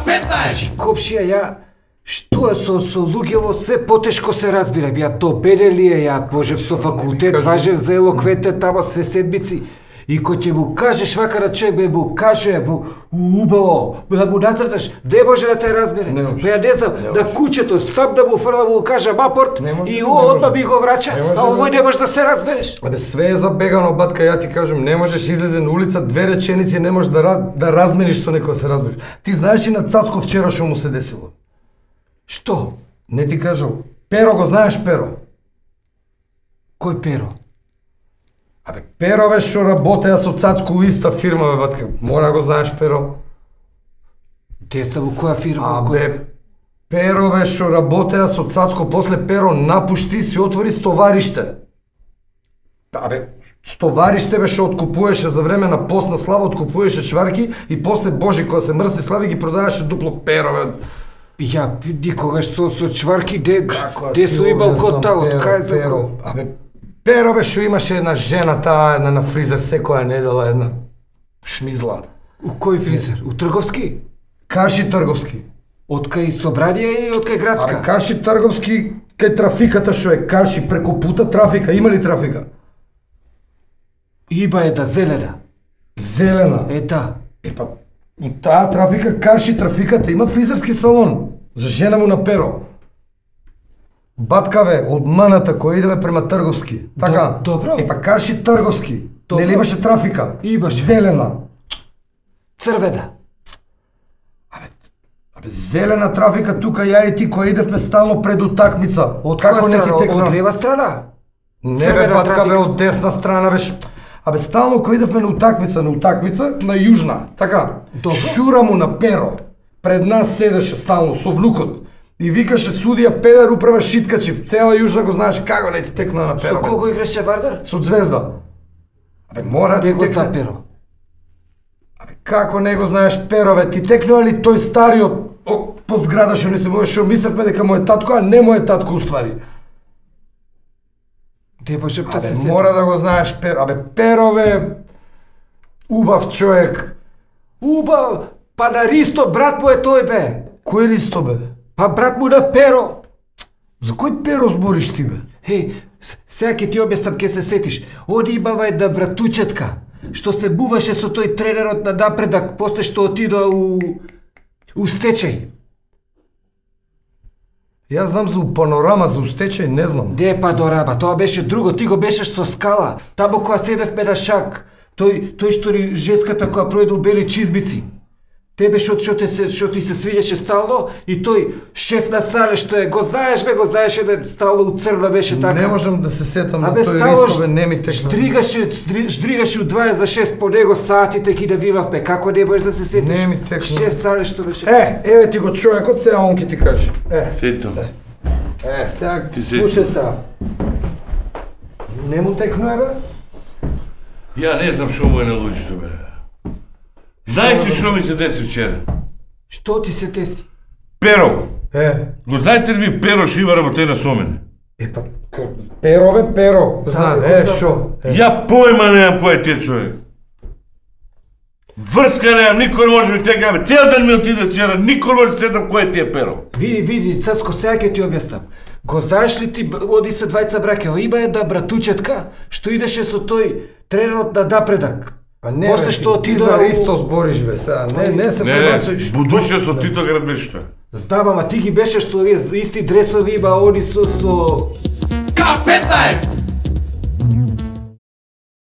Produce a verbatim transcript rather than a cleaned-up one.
петнаесет! Копшија, ја... Што е со, со луѓево се потешко се разбирам, ја то беде ли е, ја пожев со факултет, важев за елоквете тамо све седмици. И кој ќе му кажеш вака на човек, бе му каже, му убаво, да му нацрташ, не може да те разбере. Па ја не знам, на куќето стап да му фрла, му каже мапорт и одма ми го врача, а овој не може да се разбереш. Абе све е забегано, батка, ја ти кажам, не можеш излезе на улица, две реченици не можеш да, да размениш со некој да се разбереш. Ти знаеш и на Цацко вчера што му се десило? Што? Не ти кажал. Перо го знаеш, Перо? Кој Перо? Абе, Перо бе што работеа со Цацко у иста фирма, бе, батка. Мора да го знаеш, Перо. Деста во која фирма? Абе, Перо бе што работеа со Цацко, после Перо напушти и си отвори стовариште. Абе, стовариште бе што откупуваше за време на постна слава, откупуваше чварки и после Божи кога се мрсни слави ги продаваше дупло Перо, бе. Ја никогаш со со чварки де де су имал котал, кај за Перо. Абе, Перо бе што имаше една жена таа една на фризер секоја недела, една шмизла. У кој фризер? У Трговски? Каши Трговски. Од кај Собрание и од кај Градска? Абе, Каши Трговски кај трафиката што е Каши преку пута трафика, има ли трафика? Има е да зелена. Зелена? Е да. Е па, у таа трафика Каши трафиката има фризерски салон за жена му на Перо. Батка бе, од маната која идеме према Трговски. Така? Добро. Е па Каши Трговски. Добро. Нели имаше трафика? Имаше. Зелена. Црвена. Абе, абе зелена трафика тука ја и ти која идевме стално пред утакмица. Од Како која не ти страна? текна? Од лева страна? Не бе, Црвена батка трафика. бе, од десна страна беше. Абе, стално кој идевме на утакмица, на утакмица, на јужна, така. Добро. Шура му на Перо. Пред нас седеше стално со внукот. И викаше судија педер управа шиткачи. Цела јужна го знаеш како не ти текна на Перо. Со кого играше Вардар? Со Звезда. Абе, мора да ти Него текне. та Перо. Абе, како не го знаеш Перо, бе? Ти текнува ли тој стариот о, под зграда што не се може, што мислевме дека мој татко, а не мој татко уствари. Не може да се Абе, сети. мора да го знаеш Перо. Абе, Перо бе, убав човек. Уба, па на Ристо брат му е тој бе. Кој Ристо бе? Па брат му на Перо. За кој Перо збориш ти бе? Хеј, с- сега ќе ти објаснам, ќе се сетиш. Оди имава една братучетка, што се буваше со тој тренерот на напредак, после што отидоа у... у стечај. Јас знам за панорама, за устечај, не знам. Не е Падорама, тоа беше друго, ти го бешеш со Скала, таму која седевме на шак. Тој, тој што ни жеската која пројде у бели чизбици. Тебе што што те се што ти се свиѓаше стално и тој шеф на сале што е, го знаеш бе, го знаеш еден стално у црна беше така. Не можам да се сетам на Абе, тој стало Ристо бе, не ми текна. Штригаше, стри- штригаше у дваесет за шест по него сатите ги навивавме. Како не можеш да се сетиш? Не ми текна. Шеф сале што беше. Е, еве ти го човекот, сега он ќе ти каже. Е, Сетам. е, сега Ти се- слушај сега. Не му текна бе? Ја не знам што му е на луѓето, бе. Знаеш ли што ми се деси вчера? Што ти се деси? Перо. Е, Го знаете ли ви Перо што има работена со мене? е па, к- Перо бе, Перо. Знам, го е, знам. шо? Е. Ја појма немам кој е тие човек. Врска немам, никој не може ми тека, бе. Цел ден ми отиде вчера, никој не може да сетам кој е тие Перо. Види, види, Цацко, сега ќе ти објаснам. Го знаеш ли ти, б- оди се двајца браќа, има една братучетка што идеше со тој тренерот на напредак. А не, После бе, што ти отидоа за у- Ристо збориш бе сега. Не, не се Не, не, пребацуиш. будуче со Титоград беше тоа. Знам, ама ти ги беше со овие исти дресови, има они со... со... К петнаесет!